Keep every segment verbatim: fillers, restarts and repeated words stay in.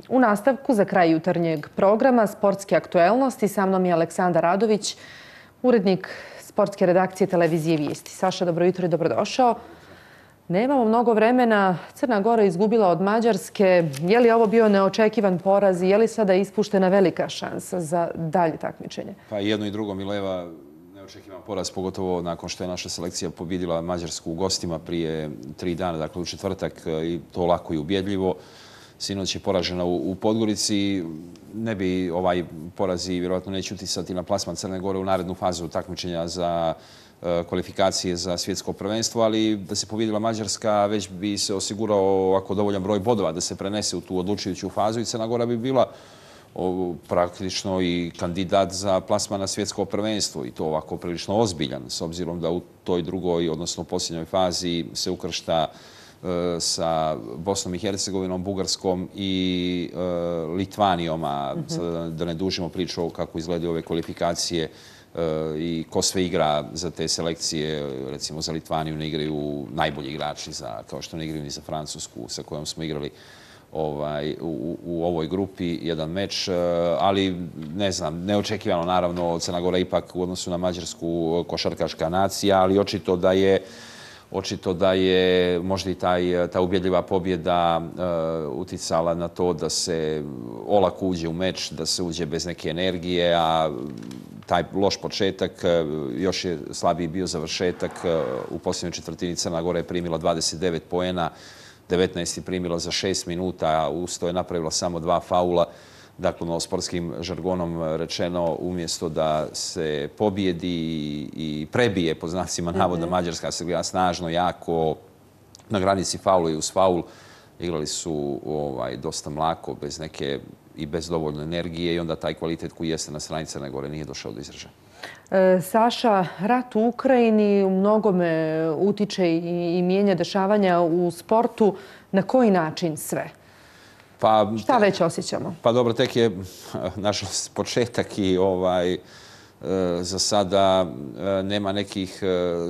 U nastavku za kraj jutarnjeg programa Sportske aktuelnosti sa mnom je Aleksandar Radović, urednik sportske redakcije televizije Vijesti. Saša, dobro jutro i dobrodošao. Nemamo mnogo vremena. Crna Gora izgubila od Mađarske. Je li ovo bio neočekivan poraz i je li sada ispuštena velika šansa za dalje takmičenje? Pa jedno i drugo, Mileva, neočekivan poraz, pogotovo nakon što je naša selekcija pobjedila Mađarsku u gostima prije tri dana, dakle u četvrtak, i to lako i ubjedljivo. Sinoć je poražena u Podgorici. Ne bi ovaj poraz i vjerojatno neće uticati na plasman Crne Gore u narednu fazu takmičenja za kvalifikacije za svjetsko prvenstvo, ali da se pobjedila Mađarska već bi se osigurao ovako dovoljan broj bodova da se prenese u tu odlučujuću fazu i Crna Gora bi bila praktično i kandidat za plasman na svjetsko prvenstvo i to ovako prilično ozbiljan, s obzirom da u toj drugoj, odnosno posljednjoj fazi se ukršta sa Bosnom i Hercegovinom, Bugarskom i Litvanijom, a da ne dužimo priču kako izgledaju ove kvalifikacije i ko sve igra za te selekcije. Recimo za Litvaniju ne igraju najbolji igrači, kao što ne igraju ni za Francusku sa kojom smo igrali u ovoj grupi jedan meč, ali ne znam, neočekivano naravno. Crna Gora ipak u odnosu na Mađarsku košarkaška nacija, ali očito da je Očito da je možda i ta ubjedljiva pobjeda uticala na to da se olako uđe u meč, da se uđe bez neke energije, a taj loš početak, još je slabiji bio završetak. U posljednjoj četvrtini Crna Gora je primila dvadeset devet poena, devetnaest je primila za šest minuta, a uz to je napravila samo dva faula. Dakle, sportskim žargonom rečeno, umjesto da se pobjedi i prebije, po znacima navoda, Mađarska se igra snažno, jako, na granici faula i uz faul. Igrali su dosta mlako, bez neke i bez dovoljno energije i onda taj kvalitet koji jeste na strani Crne Gore nije došao do izražaja. Saša, rat u Ukrajini u mnogome utiče i mijenja dešavanja u sportu. Na koji način sve? Šta već osjećamo? Pa dobro, tek je nažalost početak i za sada nema nekih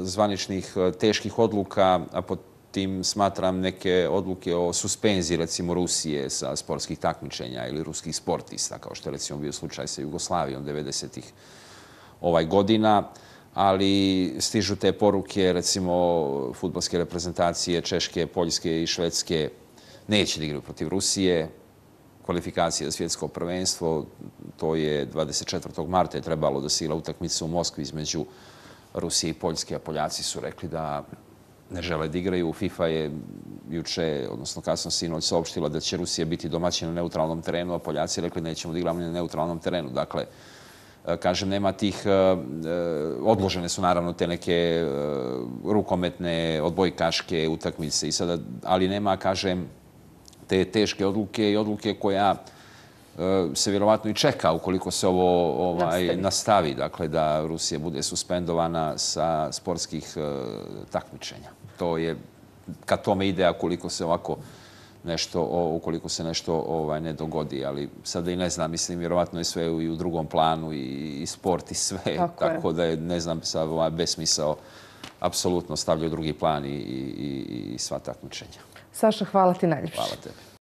zvaničnih teških odluka, a pod tim smatram neke odluke o suspenziji recimo Rusije sa sportskih takmičenja ili ruskih sportista, kao što je recimo bio slučaj sa Jugoslavijom devedesetih godina. Ali stižu te poruke, recimo fudbalske reprezentacije Češke, Poljske i Švedske neće da igraju protiv Rusije. Kvalifikacije za svjetsko prvenstvo, to je dvadeset četvrtog marta je trebalo da se igra utakmica u Moskvi između Rusije i Poljske, a Poljaci su rekli da ne žele da igraju. FIFA je juče, odnosno kasno sinoć, saopštila da će Rusija biti domaćin na neutralnom terenu, a Poljaci rekli da nećemo da igramo na neutralnom terenu. Dakle, kažem, nema tih, odložene su naravno te neke rukometne, odbojkaške utakmice, ali nema, kažem, te teške odluke i odluke koja se vjerovatno i čeka ukoliko se ovo nastavi, dakle da Rusija bude suspendovana sa sportskih takmičenja. To je, kad tome ide, a koliko se ovako nešto, ukoliko se nešto ne dogodi, ali sada i ne znam, mislim, vjerovatno je sve i u drugom planu i sport i sve, tako da je, ne znam, sad besmisao apsolutno stavljaju u drugi plan i sva takmičenja. Saša, hvala ti najljepše. Hvala tebi.